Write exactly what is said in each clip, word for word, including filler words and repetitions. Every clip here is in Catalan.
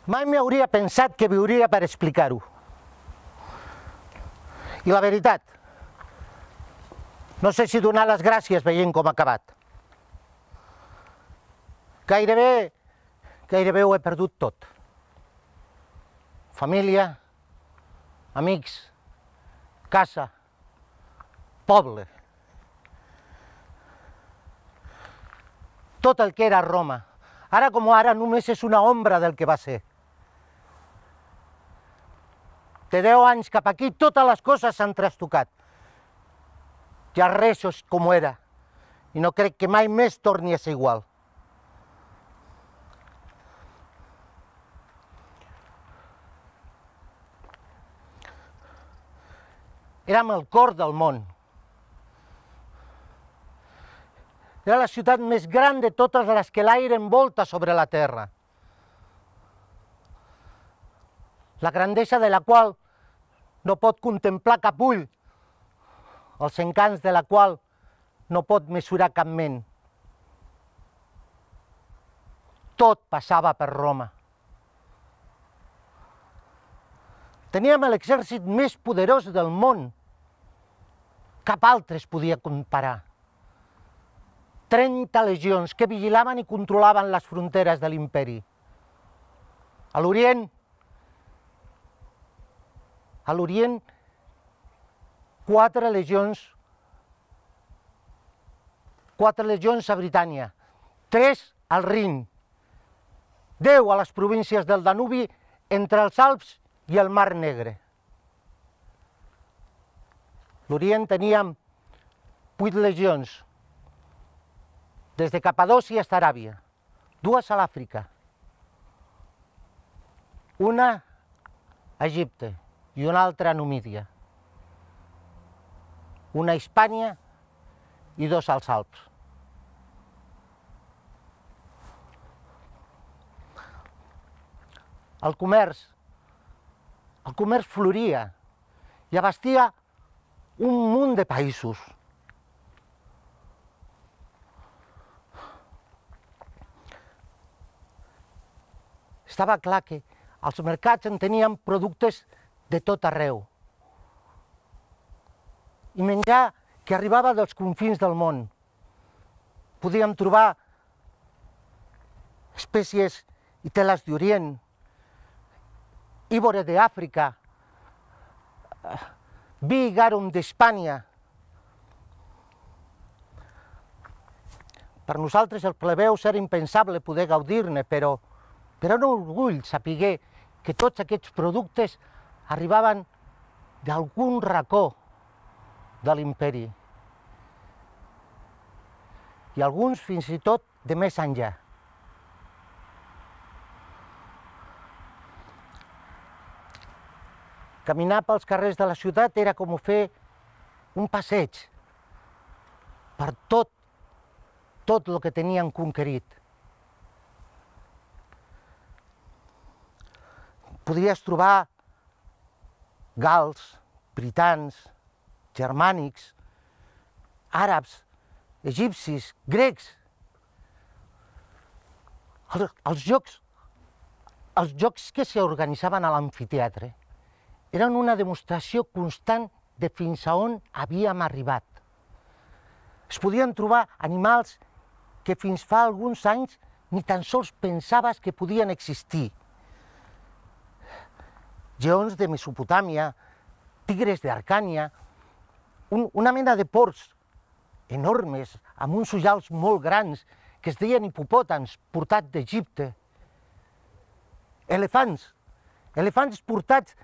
Mai m'hauria pensat que viuria per explicar-ho. I la veritat, no sé si donar les gràcies veient com ha acabat. Gairebé, gairebé ho he perdut tot. Família, amics, casa, poble. Tot el que era Roma, ara com ara només és una ombra del que va ser. De deu anys cap aquí totes les coses s'han trastocat. Ja res és com era i no crec que mai més torni a ser igual. Érem el cor del món. Era la ciutat més gran de totes les que l'aire envolta sobre la terra. La grandesa de la qual no pot contemplar cap ull, els encants de la qual no pot mesurar cap ment. Tot passava per Roma. Teníem l'exèrcit més poderós del món. Cap altre es podia comparar. trenta legions que vigilaven i controlaven les fronteres de l'imperi. A l'Orient, a l'Orient, quatre legions, quatre legions a Britània, tres al Rin, deu a les províncies del Danubi entre els Alps i el Mar Negre. L'Orient teníem vuit legions, des de Capadòcia fins a Aràbia, dues a l'Àfrica, una a Egipte i una altra a Numídia, una a Hispània i dos als Alps. El comerç, el comerç floria i abastia un munt de països. Estava clar que als mercats en teníem productes de tot arreu. I menjar que arribava dels confins del món. Podíem trobar espècies i teles d'Orient, íbore d'Àfrica, vi i garum d'Hispània. Per nosaltres, els plebeus, era impensable poder gaudir-ne, però Però era un orgull saber que tots aquests productes arribaven d'algun racó de l'imperi. I alguns fins i tot de més enllà. Caminar pels carrers de la ciutat era com fer un passeig per tot, tot el que tenien conquerit. Podries trobar gals, britans, germànics, àrabs, egipcis, grecs. Els, els jocs, els jocs que s'organitzaven a l'amfiteatre eren una demostració constant de fins a on havíem arribat. Es podien trobar animals que fins fa alguns anys ni tan sols pensaves que podien existir. Lleons de Mesopotàmia, tigres d'Arcània, un, una mena de porcs enormes, amb uns ullals molt grans, que es deien hipopòtams, portats d'Egipte. Elefants, elefants portats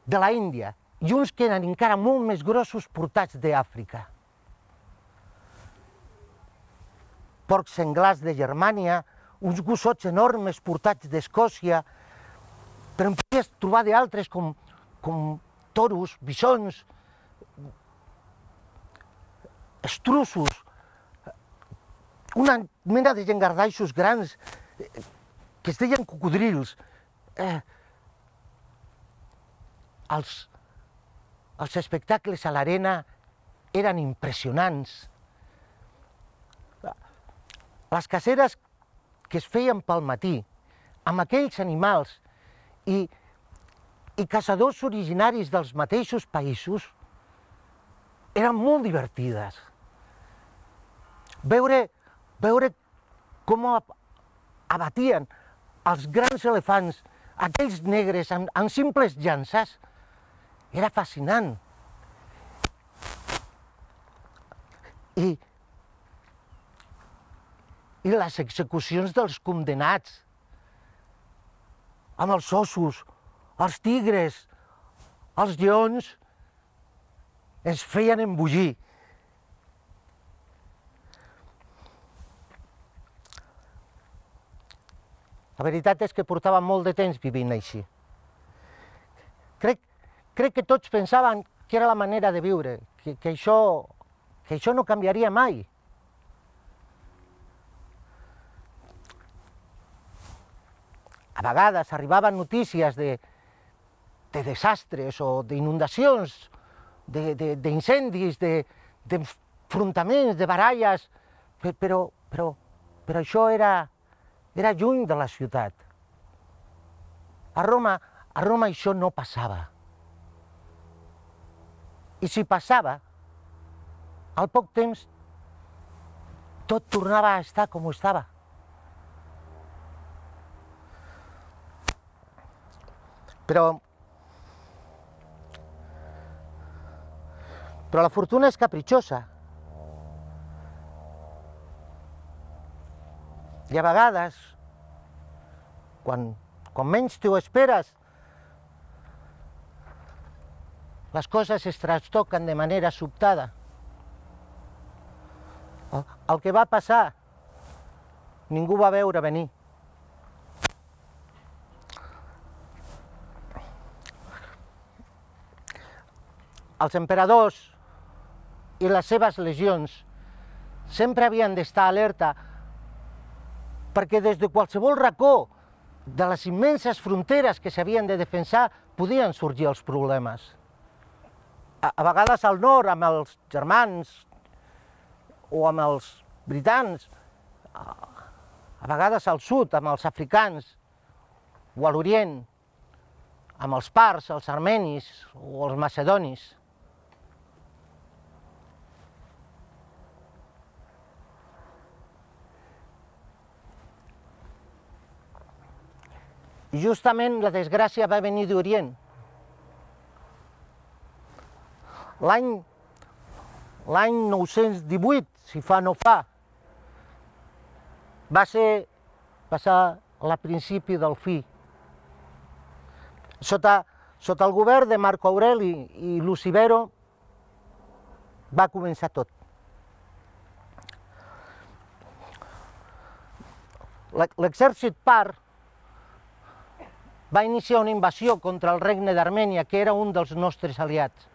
de la Índia, i uns que eren encara molt més grossos portats d'Àfrica. Porcs senglars de Germània, uns gossots enormes portats d'Escòcia, però en podies trobar d'altres com, com toros, bisons, estruços, una mena de llengardaixos grans que es deien cocodrils. Eh, els, els espectacles a l'arena eren impressionants. Les caceres que es feien pel matí, amb aquells animals i, i caçadors originaris dels mateixos països, eren molt divertides. Veure, veure com abatien els grans elefants, aquells negres amb, amb simples llances, era fascinant. I, i les execucions dels condenats, amb els ossos, els tigres, els lleons, ens feien embogir. La veritat és que portava molt de temps vivint així. Crec, crec que tots pensaven que era la manera de viure, que, que, això, que això no canviaria mai. A vegades arribaven notícies de, de desastres o d'inundacions, d'incendis, d'enfrontaments, de baralles, però, però, però això era... Era lluny de la ciutat. A Roma, a Roma això no passava. I si passava, al poc temps, tot tornava a estar com estava. Però... Però la fortuna és capritxosa. I a vegades, quan, quan menys t'ho esperes, les coses es trastoquen de manera sobtada. El, el que va passar, ningú va veure venir. Els emperadors i les seves legions sempre havien d'estar alerta, perquè des de qualsevol racó de les immenses fronteres que s'havien de defensar podien sorgir els problemes. A, a vegades al nord amb els germans o amb els britans, a, a vegades al sud amb els africans o a l'orient amb els parts, els armenis o els macedonis. I justament la desgràcia va venir d'Orient. L'any l'any nou-cents divuit, si fa no fa, va ser passar al principi del fi. Sota, sota el govern de Marco Aureli i Lucivero va començar tot. L'exèrcit par va iniciar una invasió contra el regne d'Armènia, que era un dels nostres aliats.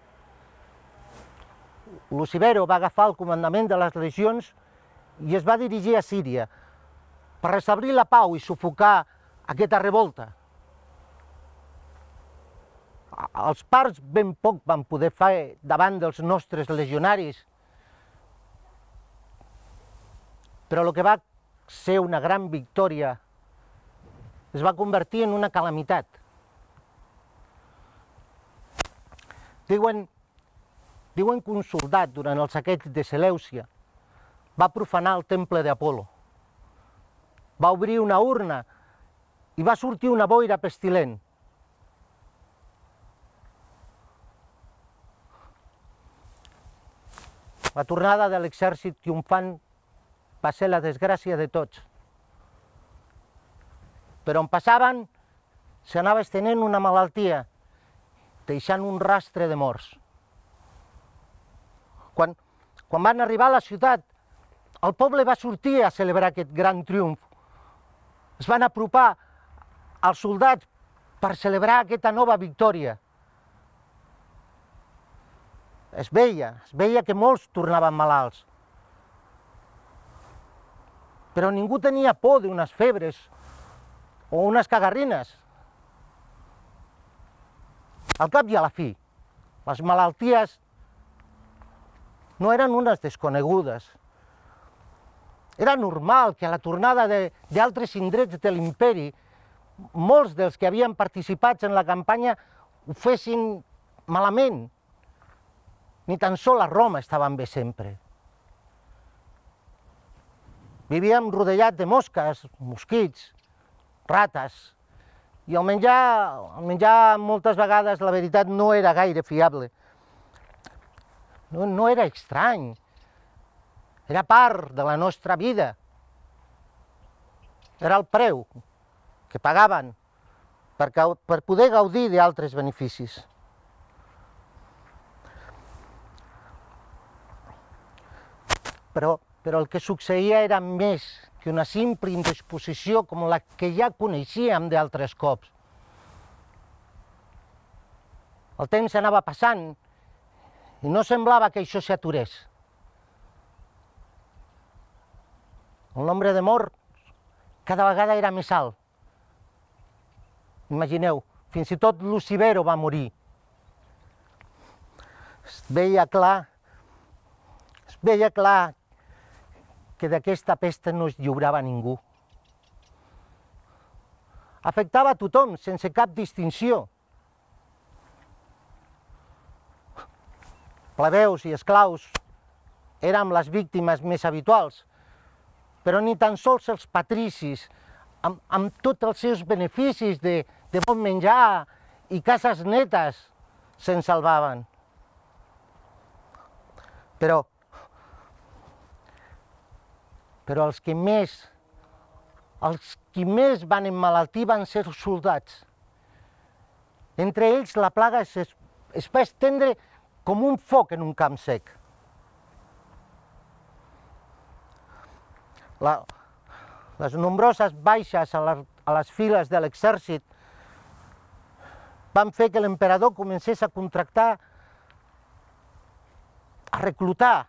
Lucivero va agafar el comandament de les legions i es va dirigir a Síria per restablir la pau i sufocar aquesta revolta. Els parts ben poc van poder fer davant dels nostres legionaris, però el que va ser una gran victòria es va convertir en una calamitat. Diuen, diuen que un soldat, durant el saqueig de Seleucia, va profanar el temple d'Apol·lo. Va obrir una urna i va sortir una boira pestilent. La tornada de l'exèrcit triomfant va ser la desgràcia de tots. Per on passaven, s'anava estenent una malaltia, deixant un rastre de morts. Quan, quan van arribar a la ciutat, el poble va sortir a celebrar aquest gran triomf. Es van apropar als soldats per celebrar aquesta nova victòria. Es veia, es veia que molts tornaven malalts. Però ningú tenia por d'unes febres o unes cagarrines. Al cap i a la fi, les malalties no eren unes desconegudes. Era normal que a la tornada d'altres indrets de l'imperi molts dels que havien participat en la campanya ho fessin malament. Ni tan sols a Roma estaven bé sempre. Vivíem rodejats de mosques, mosquits, rates, i el menjar, el menjar moltes vegades, la veritat, no era gaire fiable. No, no era estrany, era part de la nostra vida. Era el preu que pagaven per, per poder gaudir d'altres beneficis. Però, però el que succeïa era més que una simple indisposició com la que ja coneixíem d'altres cops. El temps anava passant i no semblava que això s'aturés. El nombre de morts cada vegada era més alt. Imagineu, fins i tot Lucifero va morir. Es veia clar, es veia clar que d'aquesta pesta no es lliurava ningú. Afectava a tothom, sense cap distinció. Plebeus i esclaus érem les víctimes més habituals, però ni tan sols els patricis, amb, amb tots els seus beneficis de, de bon menjar i cases netes, se'n salvaven. Però, però els que més, els qui més van emmalaltir van ser els soldats. Entre ells la plaga es, es va estendre com un foc en un camp sec. La, les nombroses baixes a, la, a les files de l'exèrcit van fer que l'emperador comencés a contractar, a reclutar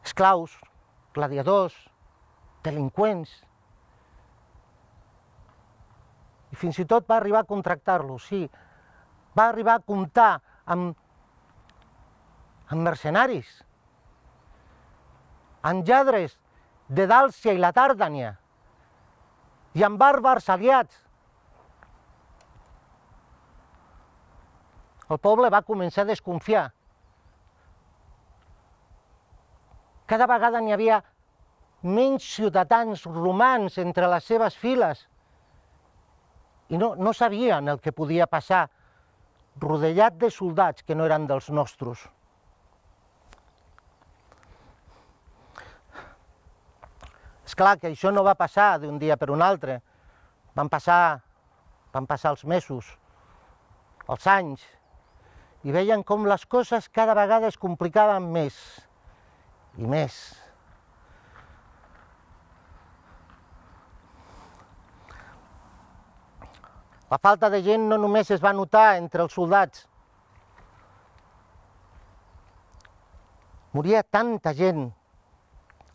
esclaus, gladiadors, delinqüents, i fins i tot va arribar a contractar-los, sí, va arribar a comptar amb, amb mercenaris, amb lladres de Dàlcia i la Tàrdania, i amb bàrbars aliats. El poble va començar a desconfiar. Cada vegada n'hi havia menys ciutadans romans entre les seves files i no, no sabien el que podia passar, rodelat de soldats que no eren dels nostres. És clar que això no va passar d'un dia per un altre. Van passar, van passar els mesos, els anys, i veien com les coses cada vegada es complicaven més i més. La falta de gent no només es va notar entre els soldats. Moria tanta gent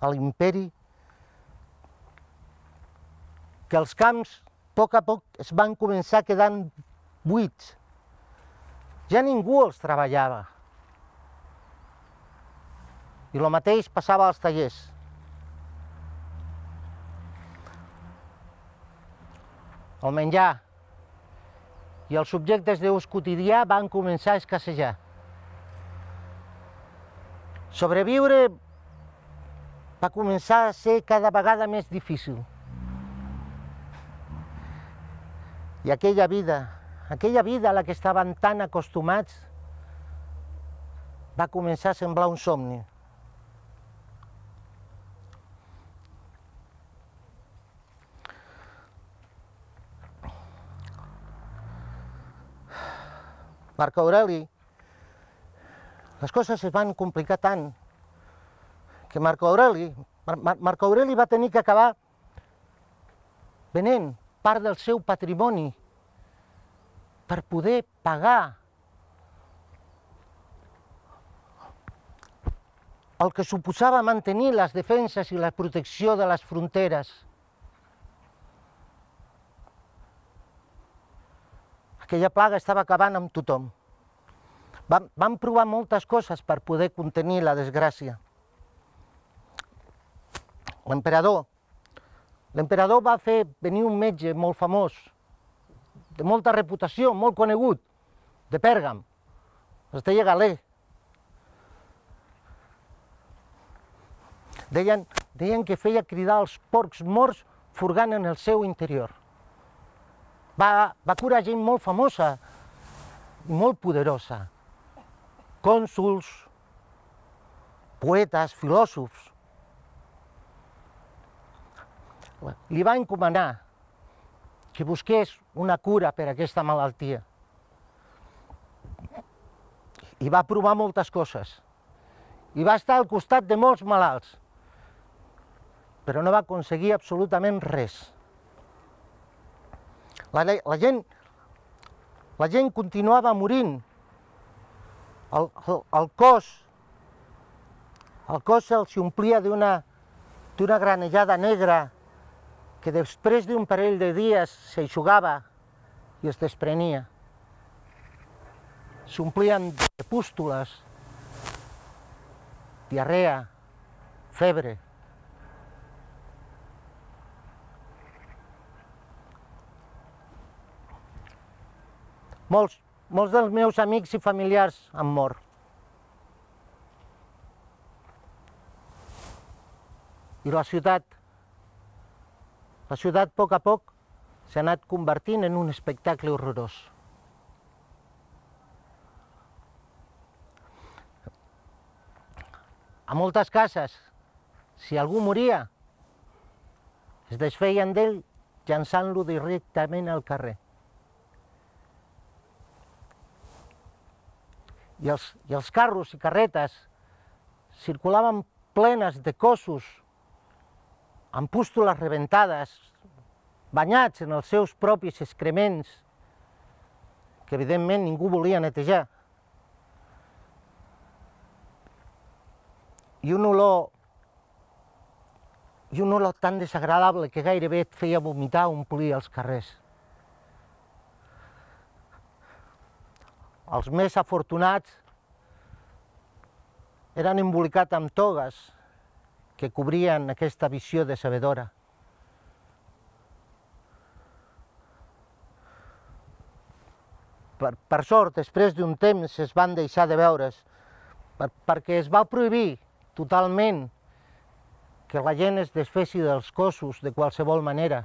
a l'imperi que els camps, a poc a poc, es van començar quedant buits. Ja ningú els treballava. I el mateix passava als tallers. El menjar i els subjectes d'ús quotidià van començar a escassejar. Sobreviure va començar a ser cada vegada més difícil. I aquella vida, aquella vida a la que estaven tan acostumats, va començar a semblar un somni. Marc Aureli, les coses es van complicar tant que Marc Aureli, Mar Marc Aureli va tenir que acabar venent part del seu patrimoni per poder pagar el que suposava mantenir les defenses i la protecció de les fronteres. Aquella plaga estava acabant amb tothom. Vam, vam provar moltes coses per poder contenir la desgràcia. L'emperador l'emperador va fer venir un metge molt famós, de molta reputació, molt conegut, de Pèrgam, es deia Galè. Deien, deien que feia cridar els porcs morts furgant en el seu interior. Va, va curar gent molt famosa i molt poderosa, cònsols, poetes, filòsofs. Li va encomanar que busqués una cura per a aquesta malaltia. I va provar moltes coses. I va estar al costat de molts malalts, però no va aconseguir absolutament res. La, la, gent, la gent continuava morint. El, el, el cos, el cos se'ls omplia d'una d'una granellada negra que després d'un parell de dies s'eixugava i es desprenia. S'omplien de pústules, diarrea, febre. Molts, molts dels meus amics i familiars han mort. I la ciutat, la ciutat a poc a poc s'ha anat convertint en un espectacle horrorós. A moltes cases, si algú moria, es desfeien d'ell llançant-lo directament al carrer. I els, i els carros i carretes circulaven plenes de cossos amb pústules rebentades, banyats en els seus propis excrements, que evidentment ningú volia netejar. I un olor, i un olor tan desagradable que gairebé et feia vomitar o omplir els carrers. Els més afortunats eren embolicats amb togues que cobrien aquesta visió decebedora. Per, per sort, després d'un temps es van deixar de veure's, per, perquè es va prohibir totalment que la gent es desfessi dels cossos de qualsevol manera.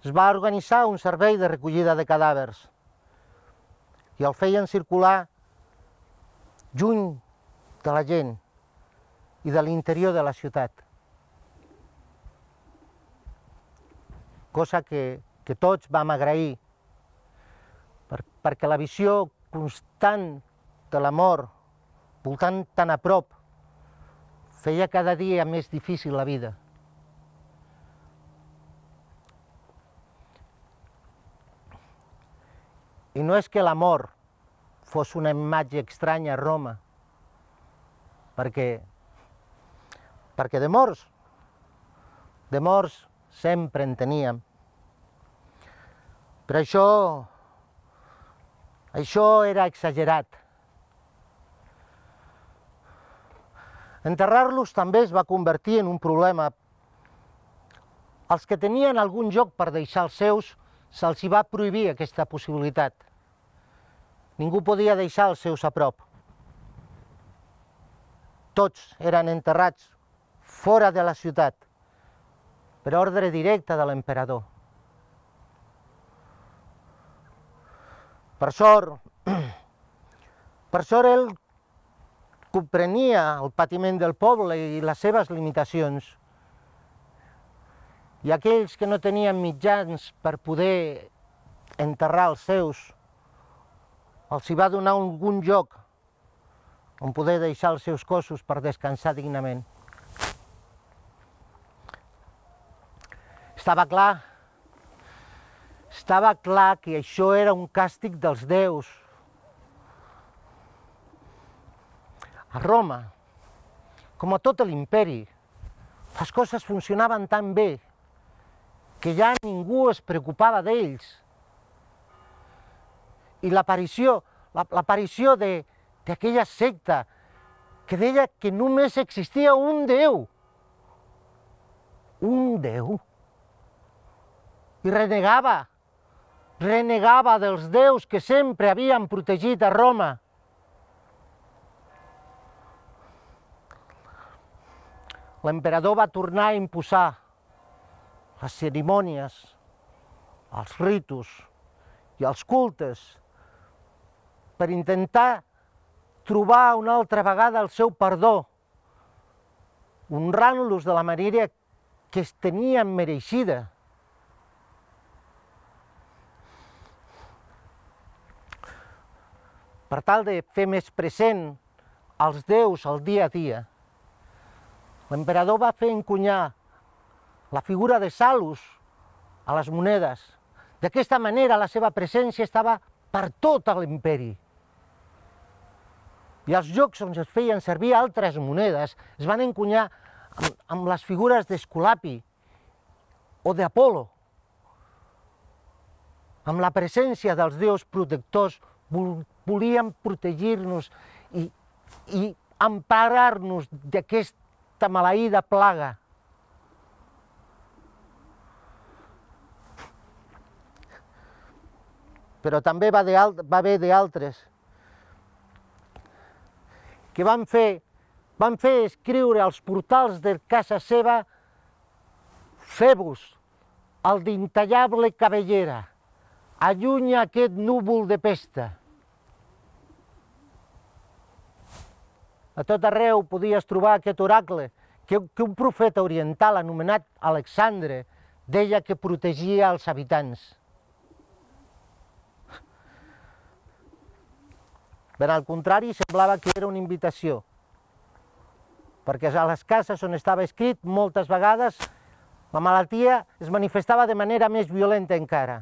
Es va organitzar un servei de recollida de cadàvers i el feien circular lluny de la gent i de l'interior de la ciutat. Cosa que, que tots vam agrair, per, perquè la visió constant de la mort, voltant tan a prop, feia cada dia més difícil la vida. I no és que la mort fos una imatge estranya a Roma, perquè, perquè de morts, de morts sempre en teníem. Però això, això era exagerat. Enterrar-los també es va convertir en un problema. Els que tenien algun lloc per deixar els seus, se'ls hi va prohibir aquesta possibilitat. Ningú podia deixar els seus a prop. Tots eren enterrats fora de la ciutat, per ordre directe de l'emperador. Per sort, per sort ell comprenia el patiment del poble i les seves limitacions. I aquells que no tenien mitjans per poder enterrar els seus, els hi va donar algun lloc on poder deixar els seus cossos per descansar dignament. Estava clar, estava clar que això era un càstig dels déus. A Roma, com a tot l'imperi, les coses funcionaven tan bé que ja ningú es preocupava d'ells. I l'aparició, l'aparició d'aquella secta que deia que només existia un Déu, un déu. I renegava, renegava dels déus que sempre havien protegit a Roma. L'emperador va tornar a imposar les cerimònies, els ritus i els cultes per intentar trobar una altra vegada el seu perdó, honrant-los de la manera que es tenien mereixida. Per tal de fer més present els déus al dia a dia, l'emperador va fer encunyar la figura de Salus a les monedes. D'aquesta manera la seva presència estava per tot l'imperi. I als llocs on es feien servir altres monedes es van encunyar amb, amb les figures d'Esculapi o d'Apol·lo. Amb la presència dels déus protectors volien protegir-nos i, i emparar-nos d'aquesta maleïda plaga. Però també va haver d'altres que van fer, van fer escriure als portals de casa seva Febus, el d'intallable cabellera, allunya aquest núvol de pesta. A tot arreu podies trobar aquest oracle que, que un profeta oriental anomenat Alexandre deia que protegia els habitants. Per al contrari, semblava que era una invitació, perquè a les cases on estava escrit, moltes vegades, la malaltia es manifestava de manera més violenta encara.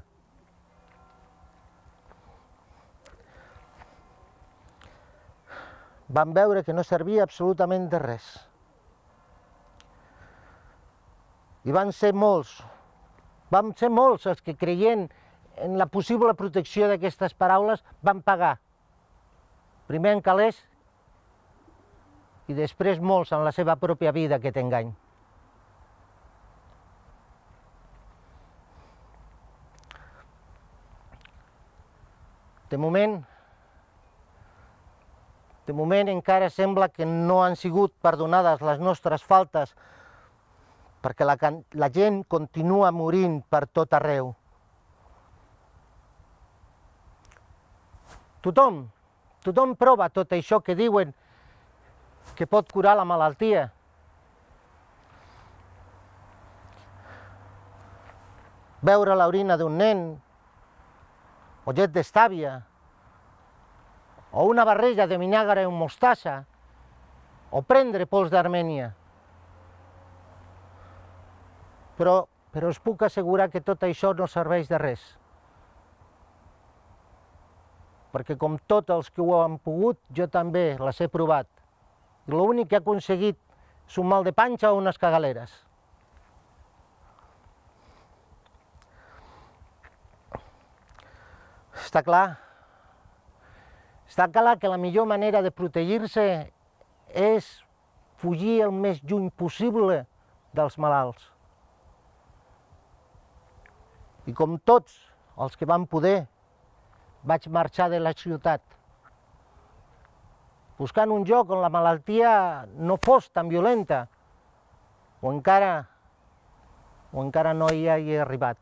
Van veure que no servia absolutament de res. I van ser molts, van ser molts els que, creient en la possible protecció d'aquestes paraules, van pagar. Primer en calés i després molts en la seva pròpia vida aquest engany. De moment, de moment encara sembla que no han sigut perdonades les nostres faltes perquè la, la gent continua morint per tot arreu. Tothom Tothom prova tot això que diuen que pot curar la malaltia. Beure l'orina d'un nen, o llet d'estàvia, o una barreja de vinagre amb mostassa, o prendre pols d'Armènia. Però, però us puc assegurar que tot això no serveix de res. Perquè com tots els que ho han pogut, jo també les he provat. I l'únic que he aconseguit és un mal de panxa o unes cagaleres. Està clar? Està clar que la millor manera de protegir-se és fugir el més lluny possible dels malalts. I com tots els que van poder, vaig marxar de la ciutat, buscant un lloc on la malaltia no fos tan violenta, o encara, o encara no hi he arribat.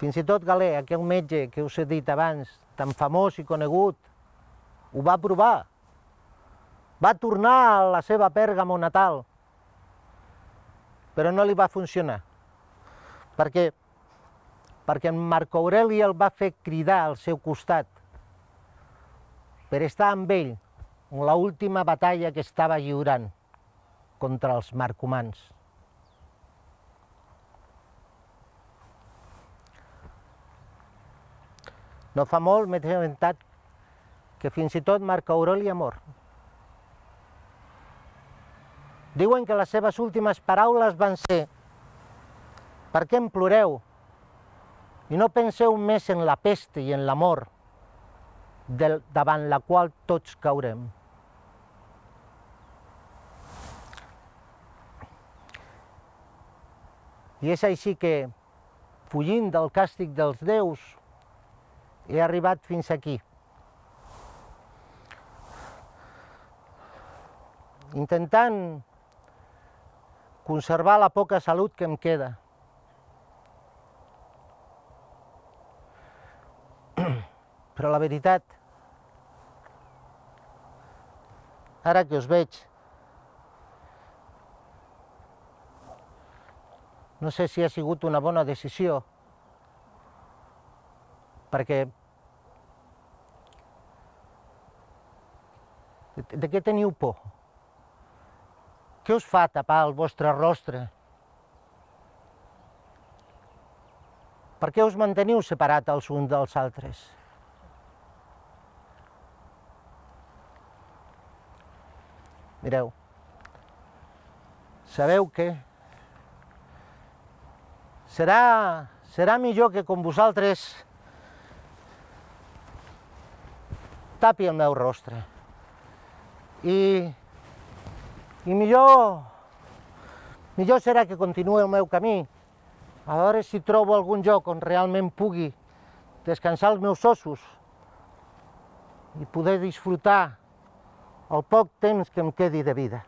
Fins i tot Galè, aquell metge que us he dit abans, tan famós i conegut, ho va provar. Va tornar a la seva Pèrgamo natal, però no li va funcionar. Perquè, perquè en Marc Aureli el va fer cridar al seu costat per estar amb ell en l'última batalla que estava lliurant contra els marcomans. No fa molt m'he assabentat que fins i tot Marc Aureli ha mort. Diuen que les seves últimes paraules van ser: per què em ploreu? I no penseu més en la pesta i en la mort, davant la qual tots caurem. I és així que, fugint del càstig dels déus, he arribat fins aquí. Intentant conservar la poca salut que em queda. Però la veritat, ara que us veig, no sé si ha sigut una bona decisió, perquè de què teniu por? Què us fa tapar el vostre rostre? Per què us manteniu separats els uns dels altres? Mireu, sabeu què? Serà, serà millor que com vosaltres tapi el meu rostre. I, i millor, millor serà que continuï el meu camí, a veure si trobo algun lloc on realment pugui descansar els meus ossos i poder disfrutar el poc temps que em quedi de vida.